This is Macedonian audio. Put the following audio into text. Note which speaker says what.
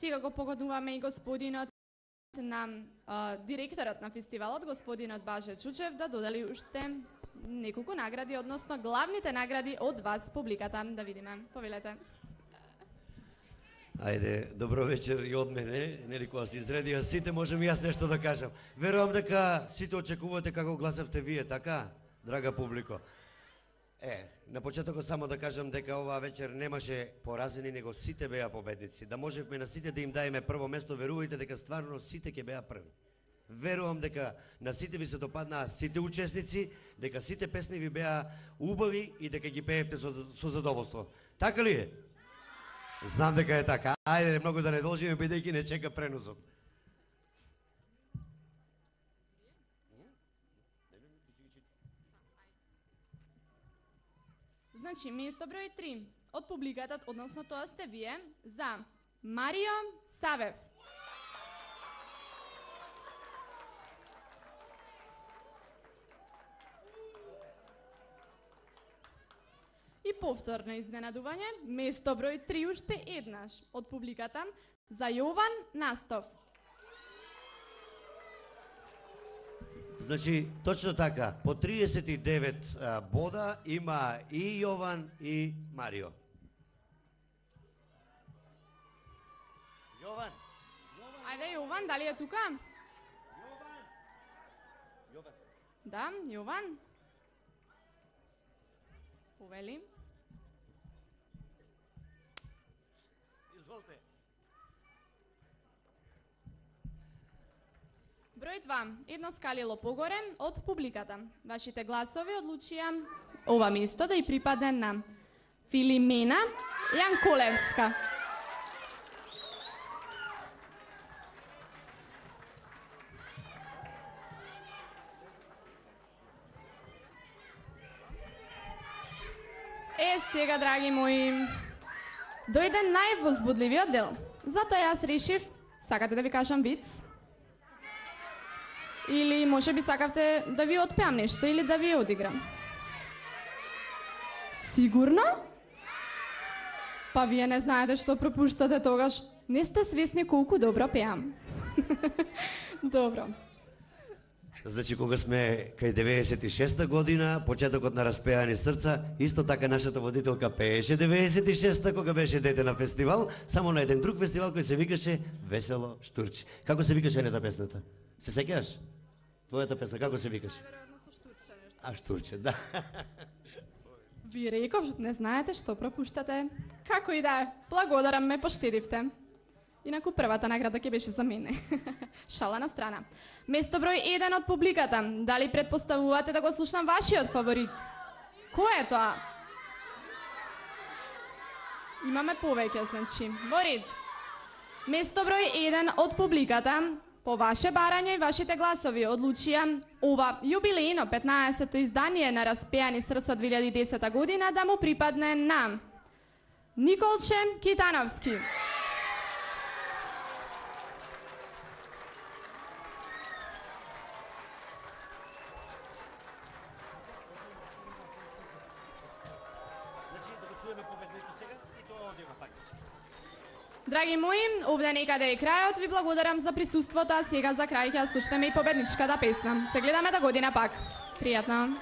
Speaker 1: Сега го погодуваме и господинот на директорот на фестивалот, господинот Баже Чучев, да додели уште неколку награди, односно главните награди од вас, публиката. Да видиме. Повелете.
Speaker 2: Ајде, добро вечер и од мене, нели кога се изредија сите, можем и јас нешто да кажам. Верувам дека сите очекувате како гласавте вие, така, драга публико. На почетокот само да кажам дека оваа вечер немаше поразени, него сите беа победници. Да можевме на сите да им даеме прво место, верувајте дека стварно сите ќе беа први. Верувам дека на сите ви се допаднаа сите учесници, дека сите песни ви беа убави и дека ги пеевте со задоволство. Така ли е? Знам дека е така. Ајде, многу да не должиме, бидејќи не чека преносот.
Speaker 1: Значи, место број 3 од публиката, односно тоа сте вие, за Марио Савев. И повторно изненадување, место број 3 уште еднаш од публиката за Јован Настов.
Speaker 2: Значи, точно така, по 39 бода има и Јован и Марио. Јован!
Speaker 1: Ајде, Јован, дали е тука?
Speaker 2: Јован!
Speaker 1: Да, Јован. Повели.
Speaker 2: Изволте.
Speaker 1: Број 2, едно скалило погоре од публиката. Вашите гласови одлучија ова место да и припадне на Филимена Јанколевска. Сега, драги мои, дојде највозбудливиот дел. Затоа јас решив, сакате да ви кажам виц? Или може би сакавте да ви отпеам нешто или да ви одиграм? Сигурно? Па вие не знаете што пропуштате тогаш. Не сте свесни колку добро пеам. Добро.
Speaker 2: Значи, кога сме кај 96-та година, почетокот на Распеани срца, исто така нашата водителка пееше 96-та, кога беше дете на фестивал, само на еден друг фестивал кој се викаше Весело Штурче. Како се викаше нета песната? Се сеќаваш? Твојата песна, како се викаше? А, Штурче, да.
Speaker 1: Ви реков, не знаете што пропуштате. Како и да е, благодарам, ме поштедивте. Инаку првата награда ќе беше за мене. Шала на страна. Место број 1 од публиката. Дали предпоставувате да го слушнам вашиот фаворит? Кој е тоа? Имаме повеќе, значи. Во ред. Место број 1 од публиката. По ваше барање и вашите гласови одлучија ова јубилејно 15-то издание на Распеани срца 2010 година да му припадне на Николче Китановски. Драги мои, овде некаде е крајот, ви благодарам за присуството, а сега за крај ќе слушнеме и победничката песна. Се гледаме до година пак. Пријатно.